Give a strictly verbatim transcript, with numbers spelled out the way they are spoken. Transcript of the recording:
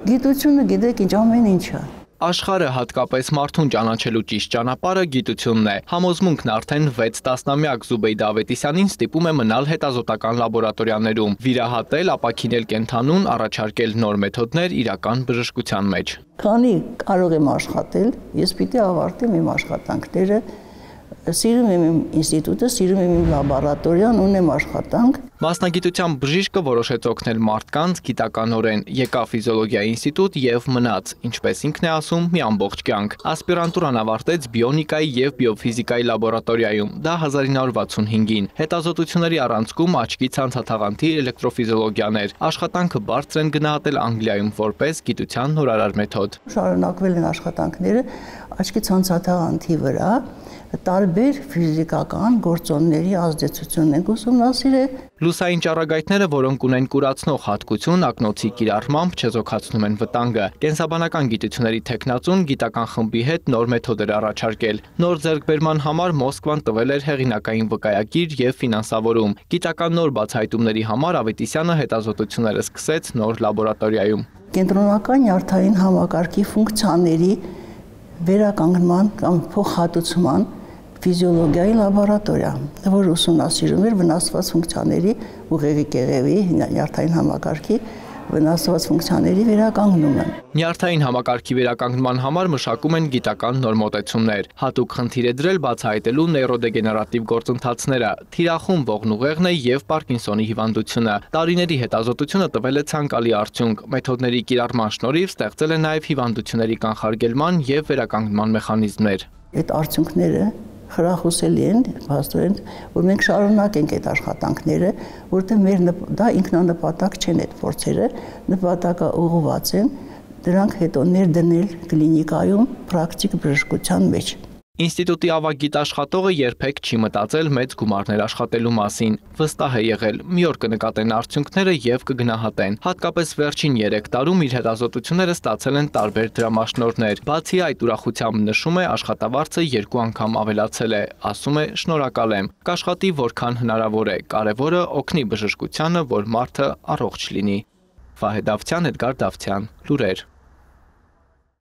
Գիտությունը գիտեք ինչ ամեն ինչը։ Աշխարհը հատկապես մարդուն ճանաչելու ճիշտ ճանապարհը գիտությունն է։ Համոզմունքն արդեն վեց տասնամյակ Զուբեյդա Ավետիսյանին ստիպում է մնալ հետազոտական լաբորատորիաներում, վիրահատել, ապաքինել կենդանուն, առաջարկել նոր մեթոդներ իրական բժշկության մեջ։ Քանի կարող եմ աշխատել, ես պիտի ավարտեմ իմ աշխատանքները, սիրում եմ իմ ինստիտուտը, սիրում եմ իմ լաբորատորիան, ունեմ աշխատանք։ Մասնագիտությամբ բժիշկը որոշեց օգնել մարդկանց գիտականորեն, եկավ ֆիզիոլոգիայի ինստիտուտ եւ մնաց, ինչպես ինքն է ասում, մի ամբողջ կյանք։ Ասպիրանտուրան ավարտեց բիոնիկայի եւ բիոֆիզիկայի լաբորատորիայում, դա հազար ինը հարյուր վաթսունհինգին։ Հետազոտությունների առանցքում աչքի ցանցաթաղանթի էլեկտրոֆիզիոլոգիան էր։ Աշխատանքը բարձր են գնահատել Անգլիայում որպես գիտության նորարար մեթոդ։ Շարունակվել են աշխատանքները աչքի ցանցաթաղանթի վրա, տարբեր ֆիզիկական գործոնների ազդեցությունն են ուսումնասիրել։ Լուսային ճառագայթները, որոնք ունեն կուրացնող հատկություն, ակնոցի կիրառմամբ չեզոքացնում են վտանգը։ Կենսաբանական գիտությունների թեկնածուն գիտական խմբի հետ նոր մեթոդ էր առաջարկել։ Նոր ձեռքբերման համար Մոսկվան տվել էր հեղինակային վկայագիր եւ ֆինանսավորում։ Գիտական նոր բացահայտումների համար Ավետիսյանը հետազոտությունները սկսեց նոր լաբորատորիայում։ Կենտրոնական նյարդային համակարգի ֆունկցիաների վերականգնման կամ փոխհատուցման ֆիզիոլոգիայի լաբորատորիա, որ ուսումնասիրում էր վնասված ֆունկցիաների ուղեղի կեղևի նյարդային համակարգի վնասված ֆունկցիաների վերականգնումը։ Նյարդային համակարգի վերականգնման համար մշակում են գիտական նոր մոտեցումներ։ Հատուկ խնդիր է դրել բացահայտելու նեյրոդեգեներատիվ գործընթացները, թիրախում ողնուղեղն է եւ Պարկինսոնի հիվանդությունը։ Տարիների հետազոտությունը տվել է ցանկալի արդյունք։ Մեթոդների կիրառման շնորհիվ ստեղծել է նաեւ հիվանդությունների կանխարգելման եւ վերականգնման մեխանիզմներ։ Այդ արդյունքները խրախուսելի են, փաստորեն, որ մենք շարունակենք այդ աշխատանքները, որտեղ մեր դա ինքնանպատակ չեն այդ փորձերը, նպատակը ուղղված են դրանք հետո ներդնել կլինիկայում պրակտիկ բժշկության մեջ։ Ինստիտուտի ավագ գիտաշխատողը երբեք չի մտածել մեծ գումարներ աշխատելու մասին։ Վստահ է եղել, մի օր կնկատեն արդյունքները եւ կգնահատեն։ Հատկապես վերջին երեք տարում իր հետազոտությունները ստացել են տարբեր դրամաշնորհներ։ Բացի այդ, ուրախությամբ նշում է, աշխատավարձը երկու անգամ ավելացել է, ասում է՝ շնորհակալ եմ։ Կաշխատի որքան հնարավոր է, կարևորը օգնի բժշկությանը, որ մարդը առողջ լինի։ Վահե Դավթյան, Էդգար Դավթյան, լուրեր։